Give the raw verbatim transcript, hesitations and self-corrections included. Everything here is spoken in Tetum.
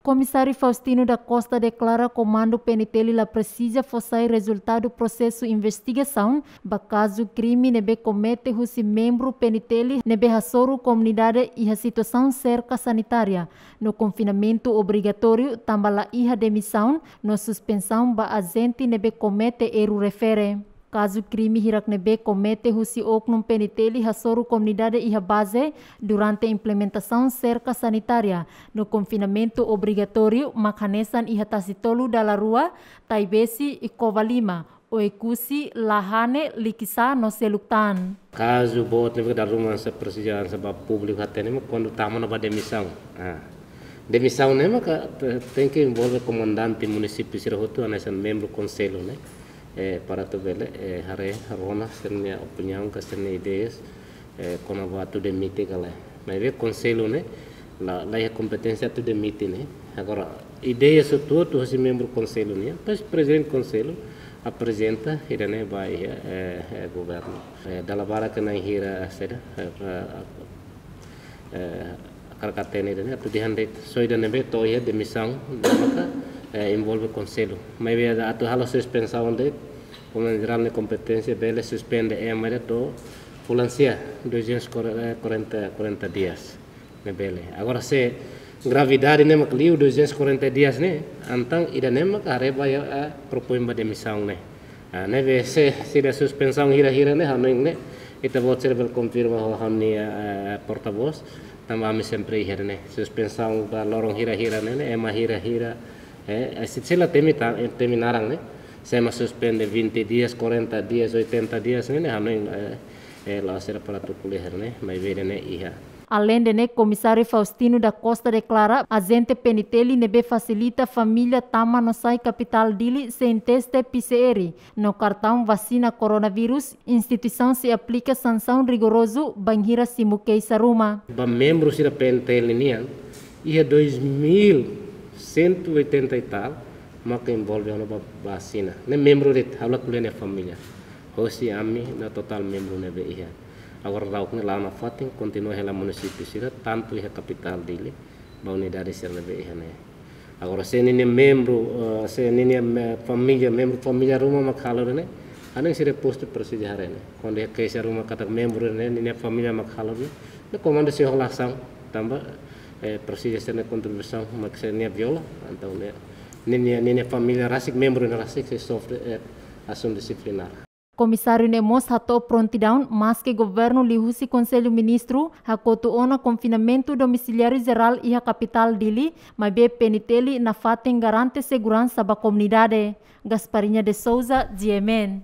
Komisáriu Faustino da Costa deklara Komandu P N T L la presiza fó sai rezultadu prosesu investigasaun ba kazu krime ne'ebé komete husi membru P N T L ne'ebé hasoru komunidade iha situasaun serka sanitária no konfinamentu obrigatóriu, tanba la iha demisaun no suspensaun ba ajente ne'ebé komete erru refere. Kazu krime hirak ne'ebé komete husi oknum P N T L hasoru komunidade iha baze durante implementasaun serka sanitária no konfinamentu obrigatóriu mak hanesan iha Tasitolu dala rua, Taibesi, Covalima, Oekusi, Lahane, Likisá no seluk tan. Kazu boot ne'ebé dala ruma hanesan presiza hanesan ba públiku hatene mak kuandu tama ona ba demisaun. Ah. Demisaun ne'e maka te-, tenke envolve komandante munisípiu sira hotu hanesan membru konsellu ne'e. Eh, para atu bele, eh, haree rona sira-nia opiniaun ka sira-nia ideias, eh, kona-ba atu demite ka lae. Maibé konsellu ne'e la, la iha kompeténsia atu demite ne'e. Agora, ideia hotu-hotu husi membru konsellu nian, depois prezidente konsellu aprezenta ida-ne'e ba iha, eh, eh, governu. Eh, dala barak ke na'in hira, eh, saida, eh, eh, eh, hakarak hatene ida-ne'e, atu dehan de'it só ida ne'ebé to'o iha demisaun, maka, eh, envolve konsellu. Maibé atu halo suspensaun de'it, Komandante Jerál nia kompeténsia bele suspende ema ida to'o fulan sia, duzentos e quarenta, quarenta dias. Ne'e bele. Agora se gravidade ne'e mak liu duzentos e quarenta dias ne'e, entaun ida-ne'e mak haree ba iha, eh, propoin ba demisaun ne'e. Ah, ne'ebé se, se ida suspensaun hira-hira ne'e, ha'u hanoin ne'e, ita-boot sira bele konfirma ho ha'u-nia, eh, portavós, tanba ami sempre iha ne'e. Suspensaun ba loron hira-hira ne'e, ne'e, ema hira-hira, eh, eh, se, se la temi ta-, eh, temi naran ne'e, se ema suspende vinte dias, quarenta dias, oitenta dias ne'e, ne'e, ha'u hanoin, eh, eh, la'ós sira para atu ko'alia ne'e, maibé ne'e iha. Aleinde ne'e, Komisáriu Faustino da Costa deklara, ajente P N T L ne'ebé fasilita família tama no sai kapitál Dili sein teste P C R no kartaun vasina koronavírus, instituisaun sei aplika sansaun rigorozu bainhira simu keixa ruma. Ba membru sira P N T L nian, iha dois mil cento e oitenta e tal, maka envolve ona ba, ba vasina. Ne'e membru de'it, ha'u la ko'alia nia família. Hosi ami no totál membru ne'ebé iha. Agora daudaun ne'e la'o nafatin, kontinua hela munisípiu sira, tantu iha kapitál Dili, ba unidade sira ne'ebé iha ne'e. Agora se ninia membru, eh, se ninia me-, família, membru família ruma mak halo ne'e, ha'u hanoin sira postu presiza haree ne'e. Kuandu iha keixa ruma katak membru ne'e, ninia família mak halo ne'e, ne'e komandu sei hola asaun, tanba, eh, presiza sira-nia kontribuisaun, mak sira-nia viola, entaun ne'e, ninia, ninia família rasik, membru ne'e rasik, sei sofre, eh, asaun disiplinár. Komisáriu ne'e mós hato'o prontidaun, maske governu liuhusi Konsellu Ministru hakotu ona konfinamentu domiciliáriu jerál iha kapitál Dili, maibé P N T L nafatin garante seguransa ba komunidade. Gasparinha de Souza, G M N.